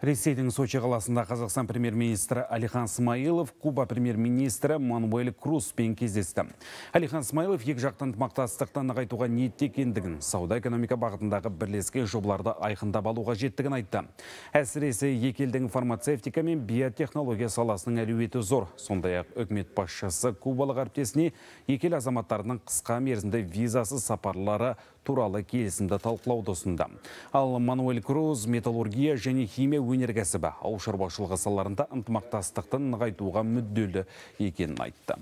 Ресейдің Сочи қаласында Қазақстан премьер-министрі Алихан Смайылов Куба премьер-министрі Мануэль Крузбен кездесті. Алихан Смайылов екіжақты ынтымақтастықты нығайтуға ниетте екендігін, сауда-экономика бағытындағы бірлескен жобаларды айқындап алуға жеттігін айтты. Әсіресе екі елдің фармацевтика мен биотехнология саласының әлеуеті зор. Сондай-ақ үкімет басшысы кубалық әріптесіне екі ел азаматтарының қысқа мерзімді визасыз сапарлары туралы келісімді талқылауды ұсынды. Ал Мануэль Круз металлургия және химия өнеркәсібі, ауыл шаруашылығы салаларында ынтымақтастықты нығайтуға мүдделі екенін айтты.